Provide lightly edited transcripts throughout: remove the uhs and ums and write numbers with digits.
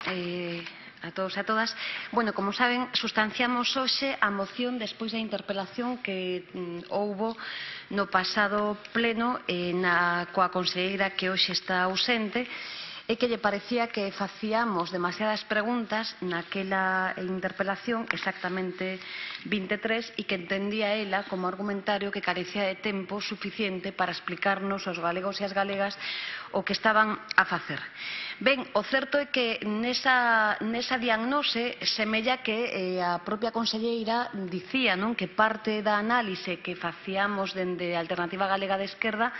a todos e a todas. Bueno, como saben, sustanciamos hoxe a moción despois da interpelación que houbo no pasado pleno coa conselleira que hoxe está ausente, e que lle parecía que facíamos demasiadas preguntas naquela interpelación, exactamente 23, e que entendía ela como argumentario que carecía de tempo suficiente para explicarnos aos galegos e as galegas o que estaban a facer. Ben, o certo é que nesa diagnose semella que a propia conselleira dicía que parte da análise que facíamos dende a Alternativa Galega de Esquerda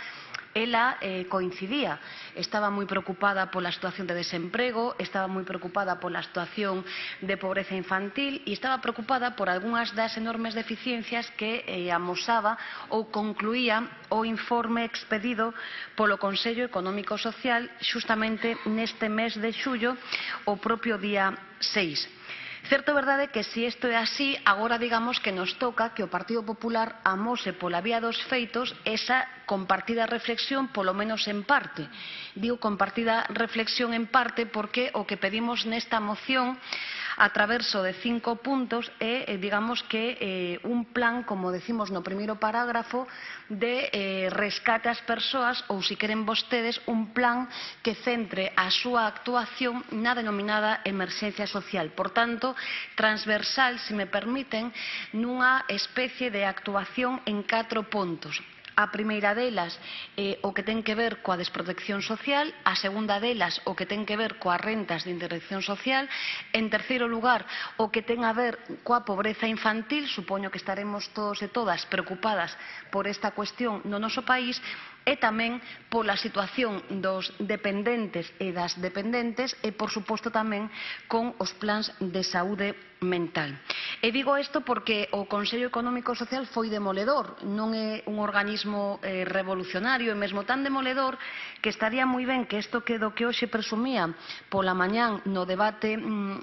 ela coincidía. Estaba moi preocupada pola situación de desemprego, estaba moi preocupada pola situación de pobreza infantil e estaba preocupada por algunhas das enormes deficiencias que amosaba ou concluía o informe expedido polo Consello Económico e Social xustamente neste mes de xullo, o propio día 6. Certo é verdade que se isto é así, agora digamos que nos toca que o Partido Popular amose pola vía dos feitos esa compartida reflexión, polo menos en parte. Digo compartida reflexión en parte porque o que pedimos nesta moción a traverso de 5 puntos é, digamos que, un plan, como decimos no primeiro parágrafo, de rescate ás persoas, ou, se queren vostedes, un plan que centre a súa actuación na denominada emerxencia social. Por tanto, transversal, se me permiten, nunha especie de actuación en 4 puntos. A primeira delas, o que ten que ver coa desprotección social, a segunda delas, o que ten que ver coas rentas de intervención social, en terceiro lugar, o que ten a ver coa pobreza infantil, supoño que estaremos todos e todas preocupadas por esta cuestión no noso país, e tamén pola situación dos dependentes e das dependentes e, por suposto, tamén con os plans de saúde mental. E digo isto porque o Consello Económico e Social foi demoledor, non é un organismo revolucionario, e mesmo tan demoledor que estaría moi ben que isto do que hoxe presumía pola mañán no debate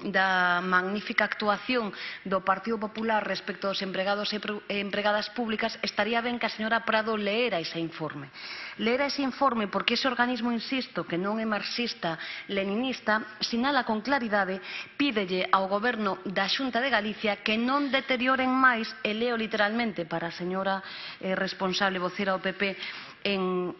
da magnífica actuación do Partido Popular respecto aos empregados e empregadas públicas, estaría ben que a señora Prado leera ese informe. Leera ese informe porque ese organismo, insisto, que non é marxista-leninista, sinala con claridade, pídelle ao Goberno da Xunta de Galicia que non deterioren máis, e leo literalmente para a señora responsable vocera do PP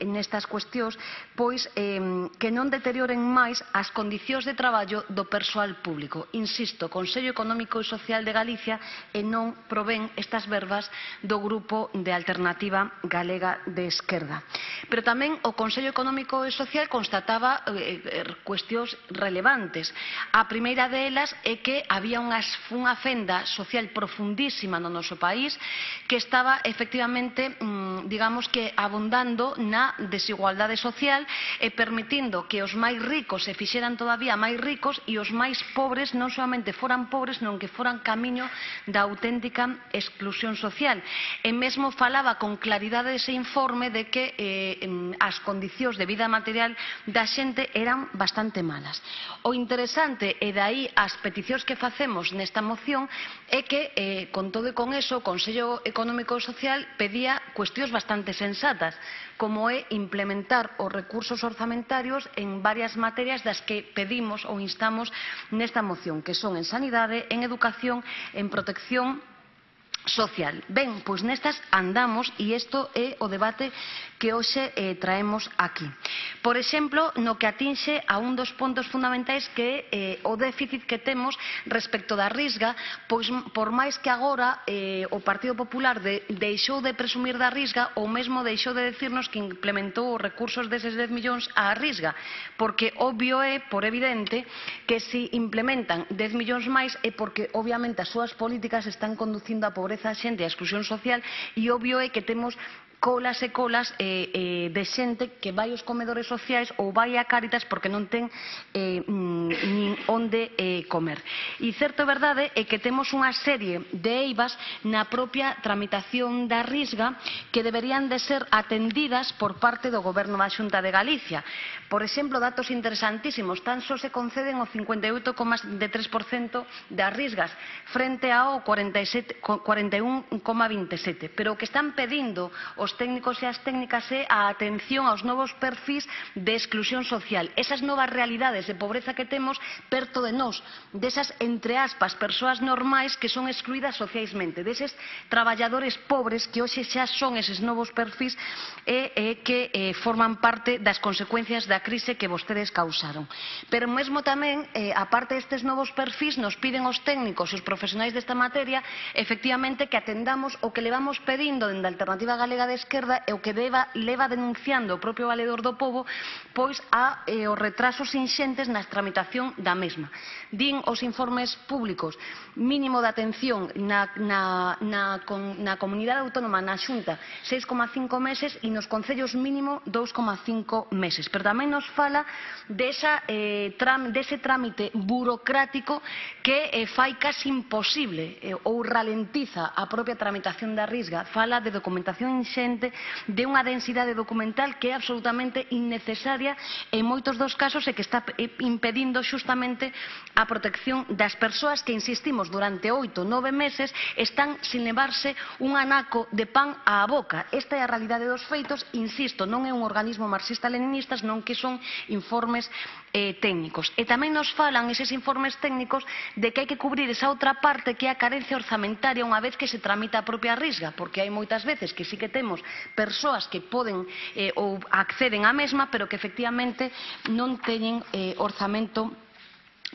nestas cuestións, pois que non deterioren máis as condicións de traballo do persoal público. Insisto, Consello Económico e Social de Galicia, e non provén estas verbas do Grupo de Alternativa Galega de Esquerda. Pero tamén o Consello Económico e Social constataba cuestións relevantes. A primeira delas é que había unha fenda social profundísima no noso país que estaba efectivamente, digamos que, abundando na desigualdade social e permitindo que os máis ricos se fixeran todavía máis ricos e os máis pobres non solamente foran pobres, non que foran camiño da auténtica exclusión social. E mesmo falaba con claridade ese informe de que as condicións de vida material da xente eran bastante malas. O interesante, e dai as peticións que facemos nesta moción, é que, con todo e con eso, o Consello Económico e Social pedía cuestións bastante sensatas, como é implementar os recursos orzamentarios en varias materias das que pedimos ou instamos nesta moción, que son en sanidade, en educación, en protección social. Ben, pois nestas andamos e isto é o debate que hoxe traemos aquí. Por exemplo, no que atinxe a un dos puntos fundamentais que é o déficit que temos respecto da Risga, pois por máis que agora o Partido Popular deixou de presumir da Risga ou mesmo deixou de decirnos que implementou os recursos deses 10 millóns á Risga, porque obvio é, por evidente, que se implementan 10 millóns máis é porque obviamente as súas políticas están conducindo a pobreza da xente e a exclusión social, e obvio é que temos colas e colas de xente que vai aos comedores sociais ou vai a Cáritas porque non ten nin onde comer. E certo é verdade é que temos unha serie de eivas na propia tramitación da Risga que deberían de ser atendidas por parte do Goberno da Xunta de Galicia. Por exemplo, datos interesantísimos, tan só se conceden o 58,3% das Risgas frente ao 41,27%, pero o que están pedindo os os técnicos e as técnicas é a atención aos novos perfis de exclusión social. Esas novas realidades de pobreza que temos perto de nós, desas, entre aspas, persoas normais que son excluídas socialmente, deses traballadores pobres que hoxe xa son eses novos perfis e que forman parte das consecuencias da crise que vostedes causaron. Pero mesmo tamén, aparte destes novos perfis, nos piden os técnicos e os profesionais desta materia, efectivamente, que atendamos o que levamos pedindo dende a Alternativa Galega de Esquerda e o que leva denunciando o propio Valedor do Pobo, pois os retrasos inxentes na tramitación da mesma. Din os informes públicos mínimo de atención na comunidade autónoma, na Xunta, 6,5 meses e nos concellos mínimo 2,5 meses. Pero tamén nos fala dese trámite burocrático que fai casi imposible ou ralentiza a propia tramitación da Risga. Fala de documentación inxente, de unha densidade documental que é absolutamente innecesaria en moitos dos casos e que está impedindo xustamente a protección das persoas que, insistimos, durante 8 ou 9 meses están sin levarse un anaco de pan á boca. Esta é a realidade dos feitos, insisto, non é un organismo marxista-leninista, non que son informes técnicos. E tamén nos falan eses informes técnicos de que hai que cubrir esa outra parte que é a carencia orzamentaria unha vez que se tramita a propia Risga, porque hai moitas veces que sí que temos persoas que poden ou acceden á mesma, pero que efectivamente non teñen orzamento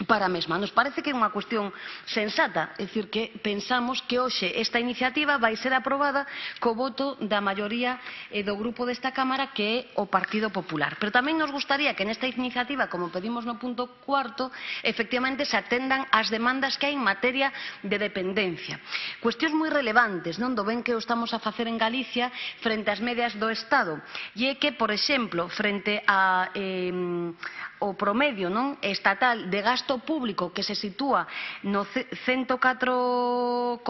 para a mesma. Nos parece que é unha cuestión sensata, é dicir, que pensamos que hoxe esta iniciativa vai ser aprobada co voto da maioría do grupo desta Cámara, que é o Partido Popular. Pero tamén nos gustaría que nesta iniciativa, como pedimos no punto cuarto, efectivamente se atendan as demandas que hai en materia de dependencia. Cuestións moi relevantes, non do ben que o estamos a facer en Galicia frente ás medias do Estado. E é que, por exemplo, frente ao promedio estatal de gasto público que se sitúa no 104,49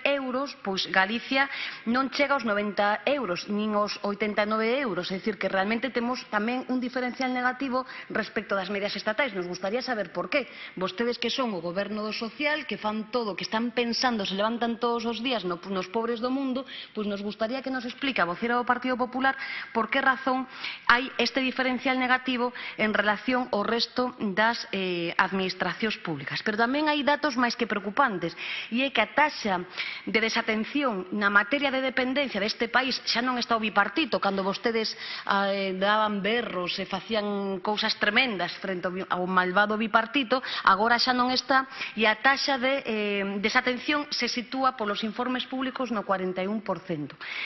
euros, pois Galicia non chega aos 90 euros, nin aos 89 euros, é dicir, que realmente temos tamén un diferencial negativo respecto das medias estatais. Nos gustaría saber por qué. Vostedes que son o goberno do social, que fan todo, que están pensando, se levantan todos os días nos pobres do mundo, pois nos gustaría que nos explique a vocera do Partido Popular por que razón hai este diferencial negativo en relación ao resto das administracións públicas. Pero tamén hai datos máis que preocupantes, e é que a taxa de desatención na materia de dependencia deste país xa non está o bipartito, cando vostedes daban berros e facían cousas tremendas frente ao malvado bipartito, agora xa non está, e a taxa de desatención se sitúa polos informes públicos no 41%.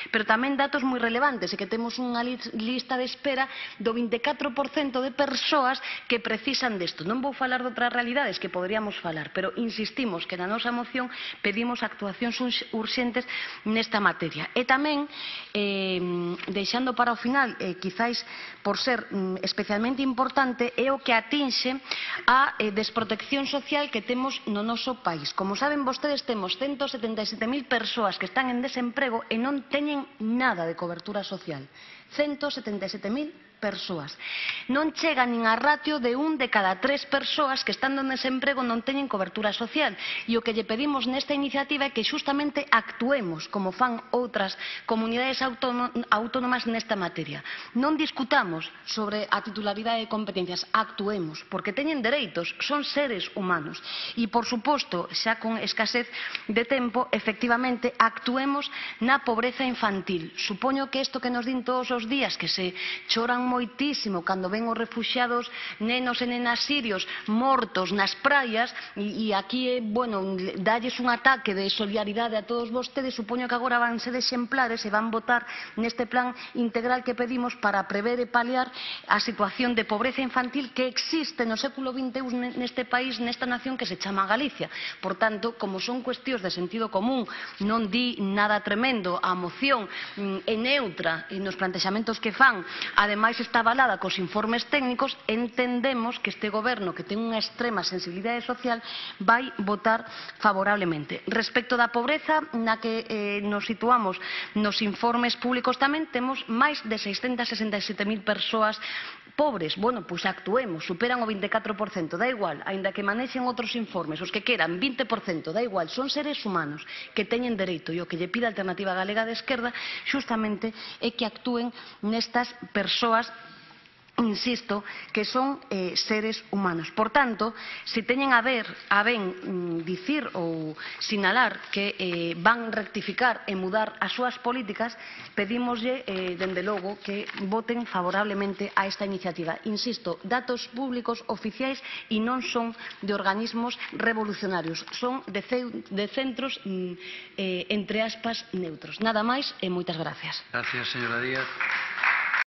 Pero tamén datos moi relevantes, é que temos unha lista de espera do 24% de persoas que precisan desto. Non vou falar de outras realidades que poderíamos falar, pero insistimos que na nosa moción pedimos actuacións urxentes nesta materia. E tamén, deixando para o final, quizáis por ser especialmente importante, é o que atinxe a desprotección social que temos no noso país. Como saben vostedes, temos 177.000 persoas que están en desemprego e non teñen nada de cobertura social. 177.000 persoas. Non chega nin a ratio de 1 de cada 3 persoas que estando en desemprego non teñen cobertura social. E o que lle pedimos nesta iniciativa é que xustamente actuemos como fan outras comunidades autónomas nesta materia. Non discutamos sobre a titularidade de competencias, actuemos, porque teñen dereitos, son seres humanos. E, por suposto, xa con escasez de tempo, efectivamente, actuemos na pobreza infantil. Supoño que isto que nos din todos os días, que se choran moitísimo cando ven os refuxiados nenos e nenas sirios mortos nas praias, e aquí, dalles un ataque de solidaridade a todos vostedes. Supoño que agora van ser exemplares e van votar neste plan integral que pedimos para prever e paliar a situación de pobreza infantil que existe no século XXI neste país, nesta nación que se chama Galicia. Por tanto, como son cuestións de sentido común, non di nada tremendo, a moción é neutra nos plantexamentos que fan, ademais está avalada cos informes técnicos, entendemos que este goberno, que ten unha extrema sensibilidade social, vai votar favorablemente. Respecto da pobreza na que nos situamos nos informes públicos, tamén temos máis de 667.000 persoas Pobres, bueno, pois actuemos, superan o 24%, da igual, aínda que manexen outros informes, os que queran, 20%, da igual, son seres humanos que teñen dereito, e o que lle pide a Alternativa Galega de Esquerda xustamente é que actúen nestas persoas, insisto, que son seres humanos. Por tanto, se teñen a ben dicir ou sinalar que van rectificar e mudar as súas políticas, pedímoslle, dende logo, que voten favorablemente a esta iniciativa. Insisto, datos públicos oficiais e non son de organismos revolucionarios, son de centros, entre aspas, neutros. Nada máis e moitas gracias. Gracias, señora Díaz.